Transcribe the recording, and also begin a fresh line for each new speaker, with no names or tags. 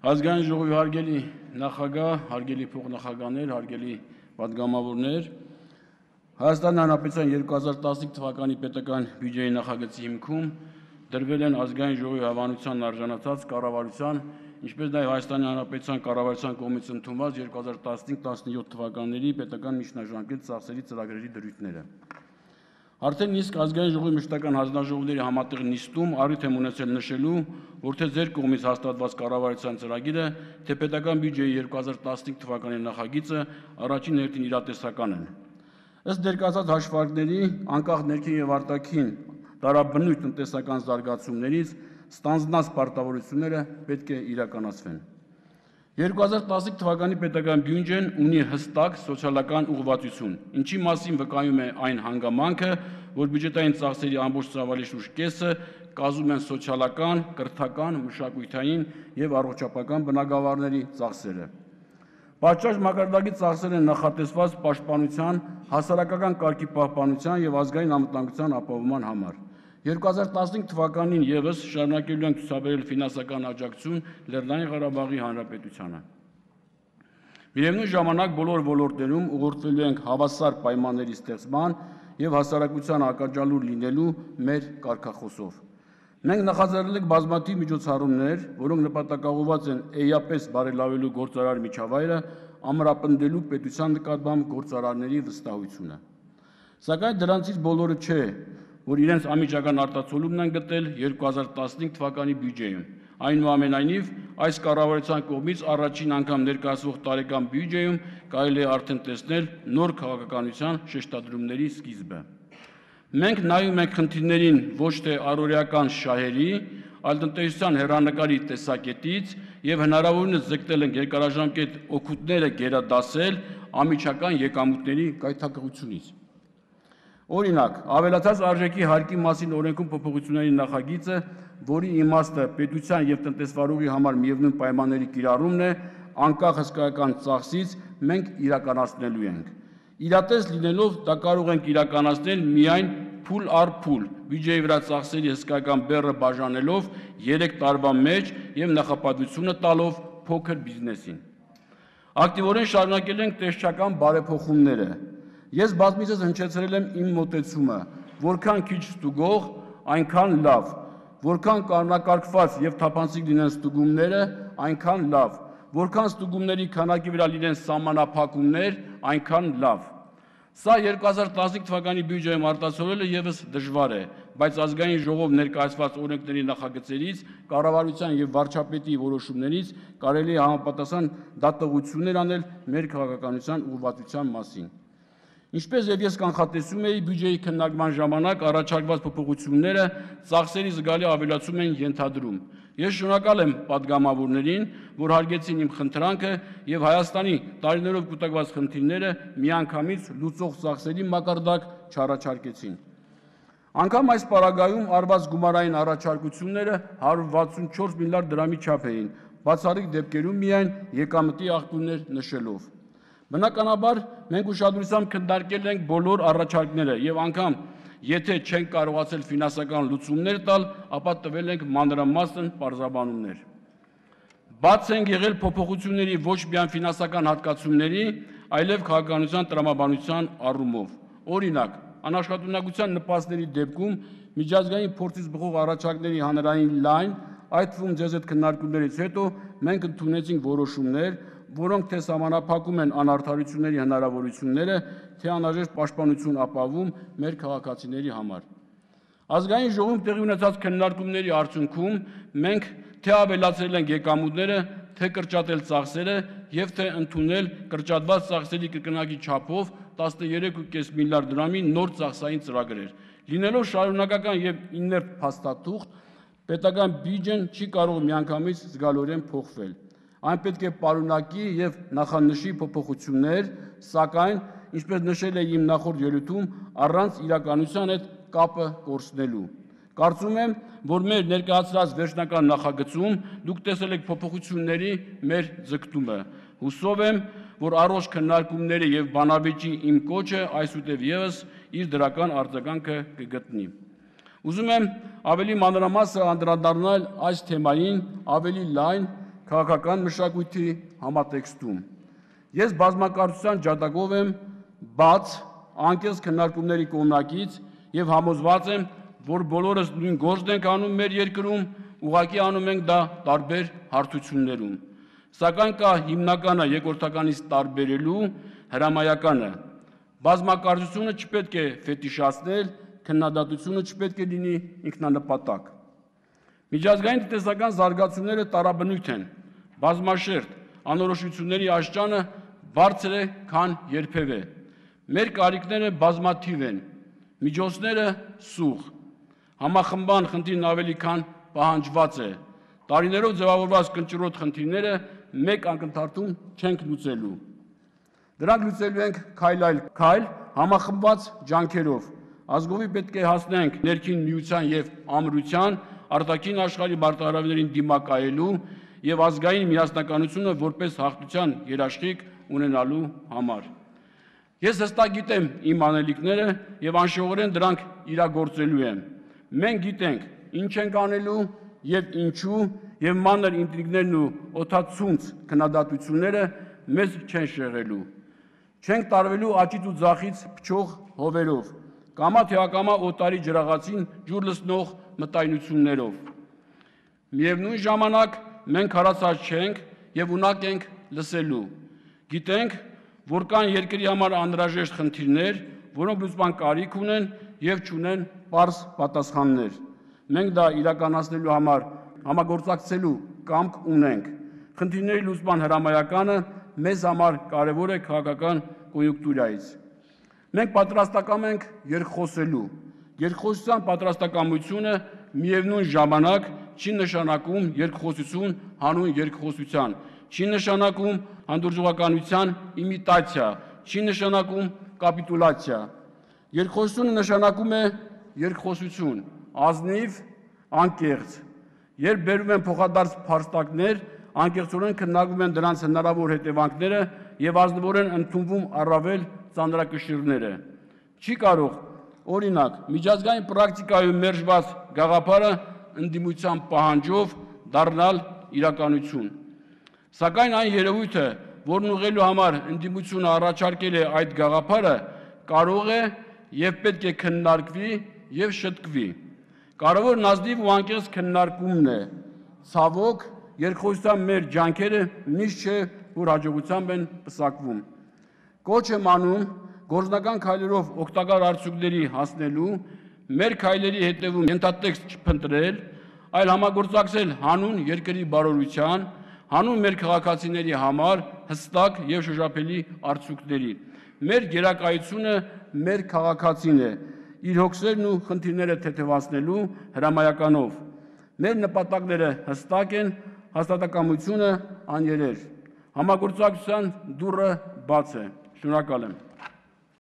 Ազգային ժողովի հարգելի նախագահ, հարգելի փոխնախագահներ, հարգելի պատգամավորներ, Հայաստանի Հանրապետության 2015 թվականի պետական բյուջեի նախագծի հիմքում դրվել են ազգային ժողովի հավանության արժանացած կառավարության, ինչպես նաև Հայաստանի Հանրապետության կառավարության կողմից ընդունված 2015-17 թվականների պետական միջնաժամկետ ծախսերի ծրագրերի դրույթները։ Արդեն իսկ ազգային ժողովի մշտական հանձնաժողովների համատեղ նիստում առիթ եմ ունեցել նշելու, որ թե ձեր կողմից հաստատված կառավարության ծրագիրը, թե պետական բյուջեի 2015 թվականի նախագիծը առաջին հերթին իրատեսական են։ Ըստ ներկայացած հաշվարկների, անկախ ներքին եւ արտաքին տարաբնույթ տնտեսական զարգացումներից ստանձնած պարտավորությունները պետք է իրականացվեն։ 2015 թվականի պետական բյուջեն ունի հստակ սոցիալական ուղղվածություն, ինչի մասին վկայում է այն հանգամանքը, որ բյուջետային ծախսերի ամբողջ ծավալի շուրջ կեսը կազմում են սոցիալական, կրթական, մշակութային եւ առողջապահական բնագավառների ծախսերը։ Պատշաճ մակարդակի ծախսեր են նախատեսված պաշտպանության, հասարակական կարգի պահպանության եւ ազգային անվտանգության ապահովման համար։ 2015 թվականին եւս շարունակելու ենք ցուցաբերել ֆինանսական աջակցություն Լեռնային Ղարաբաղի Հանրապետությանը։ Միևնույն ժամանակ բոլոր ոլորտներում ուղղորդվելու ենք հավասար պայմանների ստեղծման եւ հասարակության ակաջալուր լինելու մեր կարգախոսով։ Մենք նախաձեռնել ենք բազմաթիվ միջոցառումներ, որոնք նպատակաուղղված են էապես բարելավելու գործարար միջավայրը, ամրապնդելու պետության նկատմամբ գործարարների վստահությունը։ Սակայն դրանցից բոլորը չէ, որ իրենց անմիջական արտացոլումն են գտել 2015 թվականի բյուջեում։ Այնուամենայնիվ, այս կառավարության կողմից առաջին անգամ ներկայացվող տարեկան բյուջեում կարելի է արդեն տեսնել նոր քաղաքականության շեշտադրումների սկիզբը։ Մենք նայում ենք խնդիրներին ոչ թե առօրեական շահերի, այլ տնտեսության հեռանկարի տեսակետից եւ հնարավորինս ձգտել ենք երկարաժամկետ օգուտները գերադասել անմիջական եկամուտների գայթակղությունից։ Օրինակ, ավելացած արժեքի հարկի մասին օրենքում փոփոխությունների նախագիծը, որի իմաստը պետության եւ տնտեսվարողի համար միևնույն պայմանների կիրառումն է, անկախ հսկայական ծախսից մենք իրականացնելու ենք։ Իրատես լինելով դա կարող ենք իրականացնել միայն փուլ առ փուլ, բյուջեի վրա ծախսերի հսկայական բեռը բաժանելով 3 տարվա մեջ եւ նախապատվությունը տալով փոքր բիզնեսին։ Ակտիվորեն շարունակել ենք տեսչական բարեփոխումները։ Ես բազմիցս հնչեցրել եմ իմ մոտեցումը, որքան քիչ ստուգող, այնքան լավ, որքան կանոնակարգված եւ թափանցիկ լինեն ստուգումները, այնքան լավ, որքան ստուգումների քանակի վրա լինեն սահմանափակումներ, այնքան լավ։ Սա 2015 թվականի բյուջեում արտացոլելը եւս դժվար է, բայց ազգային ժողով ներկայացված օրենքների նախագծերից, կառավարության եւ վարչապետի որոշումներից կարելի է համապատասխան դատողություններ անել մեր քաղաքականության ուղղվածության մասին։ Ինչպես եւ ես կանխատեսում էի, բյուջեի քննարկման ժամանակ առաջարկված փոփոխությունները ծախսերի զգալի ավելացում են ենթադրում։ Ես շնորհակալ եմ պատգամավորներին, որ հարգեցին իմ խնդրանքը եւ Հայաստանի տարիներով կուտակված խնդիրները միանգամից լուծող ծախսերի մակարդակ չառաջարկեցին։ Անգամ այս պարագայում արված գումարային առաջարկությունները 164 միլիարդ դրամի չափ էին, բացառիկ դեպքերում միայն եկամտի աղբյուրներ նշելով։ Բնականաբար, մենք ուշադրությամբ քննարկել ենք բոլոր առաջարկները եւ անգամ եթե չենք կարողացել ֆինանսական լուծումներ տալ, ապա տվել ենք մանրամասն պարզաբանումներ։ Բաց են եղել փոփոխությունների ոչ միայն ֆինանսական հատկացումների, այլև քաղաքականության տրամաբանության առումով։ Օրինակ, անաշխատունակության նպաստների դեպքում միջազգային փորձից բխող առաջարկների հանրային լայն, այդ թվում ձեզ հետ քննարկումներից հետո մենք ընդունեցինք որոշումներ, որոնք թե սահմանափակում են անարդարությունների հնարավորությունները, թե անհրաժեշտ պաշտպանություն ապահովում մեր քաղաքացիների համար։ Ազգային ժողովում տեղի ունեցած քննարկումների արդյունքում մենք թե ավելացրել ենք եկամուտները, թե կրճատել ծախսերը եւ թե ընդունել կրճատված ծախսերի կրկնակի չափով 13.5 միլիարդ դրամի նոր ծախսային ծրագրեր։ Լինելով շարունակական եւ իներտ փաստաթուղթ, պետական բյուջեն չի կարող միանգամից զգալիորեն փոխվել։ Այն պետք է պարունակի եւ նախանշի փոփոխություններ, սակայն, ինչպես նշել էի իմ նախորդ ելույթում, առանց իրականության հետ կապը կորցնելու։ Կարծում եմ, որ մեր ներկայացրած վերջնական նախագծում դուք տեսել եք փոփոխությունների մեր ձգտումը։ Հուսով եմ, որ առողջ քննարկումների եւ բանավեճի իմ կոչը այսուհետ եւս իր դրական արձագանքը կգտնի։ Ուզում եմ ավելի մանրամասն անդրադառնալ այս թեմային ավելի լայն քաղաքական մշակույթի համատեքստում։ Ես բազմակարծության ջատագով եմ բաց, անկեղծ քննարկումների կողմնակից եւ համոզված եմ, որ բոլորս նույն գործն ենք անում մեր երկրում, ուղղակի անում ենք դա տարբեր հարթություններում։ Սակայն կա հիմնականը երկրորդականից տարբերելու հրամայականը։ Բազմակարծությունը չպետք է ֆետիշացնել, քննադատությունը չպետք է լինի ինքնանպատակ։ Միջազգային տնտեսական զարգացումները տարաբնույթ են, բազմաշերտ, անորոշությունների աշճանը բարձր է, քան երբևէ։ Մեր կարիքները բազմաթիվ են, միջոցները սուղ, համախմբման խնդիրն ավելի քան պահանջված է։ Տարիներով ձևավորված կնճռոտ խնդիրները մեկ ակնթարթում չենք լուծելու։ Դրանք լուծելու ենք քայլ այլ քայլ, համախմբված ջանքերով։ Ազգովի պետք է հասնենք ներքին միության եւ ամրության, արտաքին աշխարհի մարտահրավերներին դիմակայելու եւ ազգային միասնականությունը որպես հաղթության երաշխիք ունենալու համար։ Ես հստակ գիտեմ իմ անելիքները եւ անշողորեն դրանք իրագործելու եմ։ Մենք գիտենք ինչ ենք անելու եւ ինչու եւ մանր ինտրիգներն ու օդացունց քննադատությունները մեզ չեն շեղելու։ Չենք տարվելու աճից ու ձախից փչող հովերով, կամա թե ակամա օտարի ջրաղացին ջուր լցնող մտայնություններով։ Միևնույն ժամանակ մենք հառացած չենք եւ ունակ ենք լսելու։ Գիտենք, որ կան երկրի համար անհրաժեշտ խնդիրներ, որոնք լուծման կարիք ունեն եւ չունեն պարզ պատասխաններ։ Մենք դա իրականացնելու համար համագործակցելու կամք ունենք։ Խնդիրների լուծման հրամայականը մեզ համար կարևոր է քաղաքական կոնյունկտուրայից։ Մենք պատրաստական ենք երկխոսելու։ Երկխոսության պատրաստակամությունը միևնույն ժամանակ չի նշանակում երկխոսություն հանուն երկխոսության, չի նշանակում հանդուրժողականության իմիտացիա, չի նշանակում կապիտուլյացիա։ Երկխոսությունը նշանակում է երկխոսություն, ազնիվ, անկեղծ։ Երբ բերում են փոխադարձ փաստարկներ, անկեղծորեն քննարկվում են դրանց հնարավոր հետևանքները եւ ազնվորեն ընդունվում առավել ծանրակշիռները։ Չի կարող, օրինակ, միջազգային պրակտիկայում մերժված գաղափարը ընդդիմության պահանջով դառնալ իրականություն։ Սակայն այն երևույթը, որն ուղղելու համար ընդդիմությունը առաջարկել է այդ գաղափարը, կարող է եւ պետք է քննարկվի եւ շտկվի։ Կարևորն ազնիվ ու անկեղծ քննարկումն է։ Ցավոք, երկխոսության մեր ջանքերը միշտ չէ, որ հաջողությամբ են պսակվում։ Կոչ եմ անում գործնական քայլերով օգտակար արդյունքների հասնելու, մեր քայլերի հետևում ենթատեքստ չփնտրել, այլ համագործակցել հանուն երկրի բարօրության, հանուն մեր քաղաքացիների համար հստակ եւ շոշափելի արդյունքների։ Մեր գերակայությունը մեր քաղաքացին է, իր հոգսերն ու խնդիրները թեթևացնելու հրամայականով։ Մեր նպատակները հստակ են, հաստատակամությունը աներեր։ Համագործակցության դուռը բաց է։ Շնորհակալ եմ։